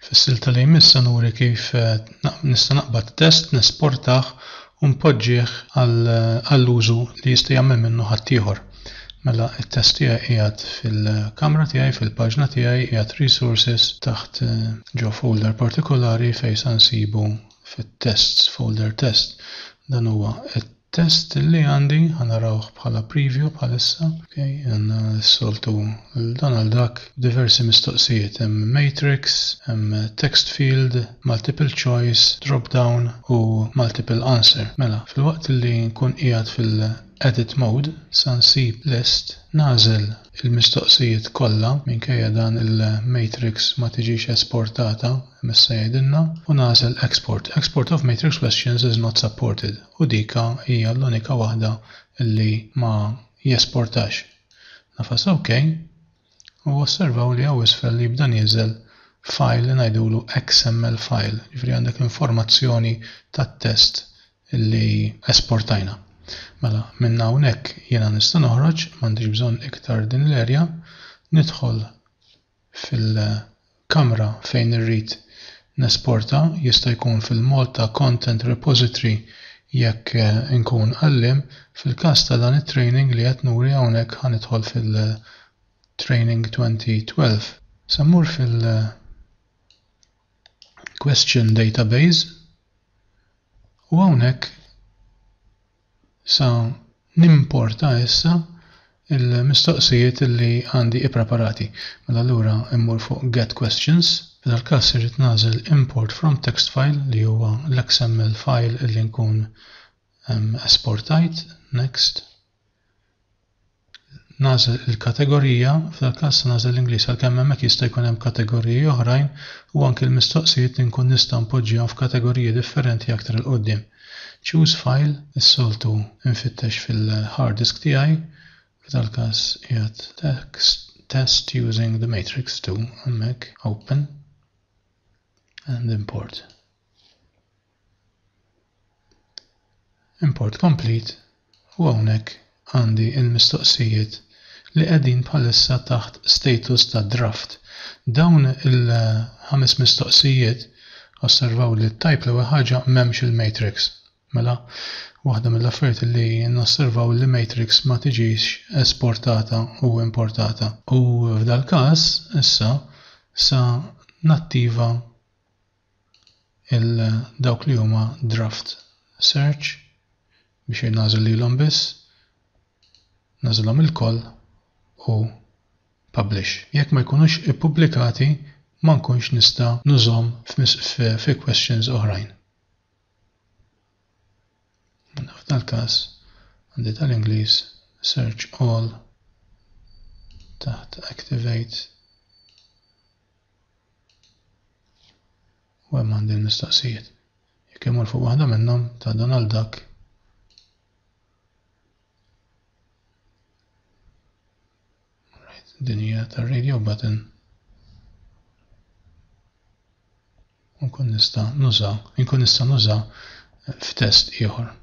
Fis-silta li jmiss se nuri kif nista' naqbad test, nesportah u npoġġih għall-użu li jista' jagħmel minnu ħaddieħor. Mela t-test tiegħi qiegħed fil-kamra tiegħi, fil-paġna tiegħi, qiegħed resources taħt ġo folder partikolari fejn sa nsibu fit-tests, folder test. Dan huwa Test li għandi, ħa narawh bħala preview bħalissa. Ok, għandna s-soltu dan għal dak diversi mistoqsijiet. Hemm matrix, hemm text field, multiple choice, drop down u multiple answer. Mela, filwaqt li nkun qiegħed fil-edit mode, sa nsib list, nagħżel il-mistoqsijiet kollha, minkejja dan il-matrix ma tiġix esportata, issa jgħidilna, u nagħżel export. Export of matrix questions is not supported. U dika hija l-unika waħda li ma jesportax. Nagħfas OK u osservaw li hawn isfel jibda nieżel file li ngħidulu XML file, jiġifieri għandek informazzjoni tat-test li esportajna. Mela minn hawnhekk jiena nista' noħroġ, m'għandix bżonn iktar din l-area, nidħol fil-kamra fejn irrid nesporta, jista' jkun fil-Malta Content Repository jekk inkun għalliem, fil-każ ta' dan it-training li qed nuri hawnhekk ħa nidħol fil-Training 2012. Se mmur fil-Question Database u hawnhekk Sa nimporta issa l-mistoqsijiet li għandi ippreparati. Mela allura immur fuq Get Questions. F'dal-każ irrid nagħżel Import from Text File li huwa l-XML file li nkun esportajt. Next. Nagħżel il-kategorija, f'dal-każ se nagħżel l-Ingliż għalkemm hemmhekk jista' jkun hemm kategoriji oħrajn u anki l-mistoqsijiet inkun nista' npoġġihom f'kategoriji differenti aktar 'il quddiem. Choose file, is-soltu nfittex fil-hard disk tiegħi, f'dal-każ qiegħed text test using the matrix 2 hemmhekk, open and import. Import complete u hawnhekk għandi l-mistoqsijiet li qegħdin bħalissa taħt status ta' draft. Dawn il-ħames mistoqsijiet osservaw li t-type l-ewwel ħaġa m'hemmx il-matrix. Mela, waħda mill-affarijiet li nosservaw li matrix ma tiġix esportata u importata. U f'dal-każ issa sa nattiva il dawk li huma draft search biex nagħżel lilhom biss, nagħżilhom ilkoll u publish. Jekk ma jkunux ippubblikati ma nkunx nista' nużhom fi questions oħrajn. Mela f'dal-każ għandi tal-Ingliż search all taħt activate U hemm għandi l-mistoqsijiet. Jekk imur fuq waħda minnhom ta' dan għal dak. Right, din hija tar-radio button. Nkun nista' nuża, nkun nista' nuża f'test ieħor.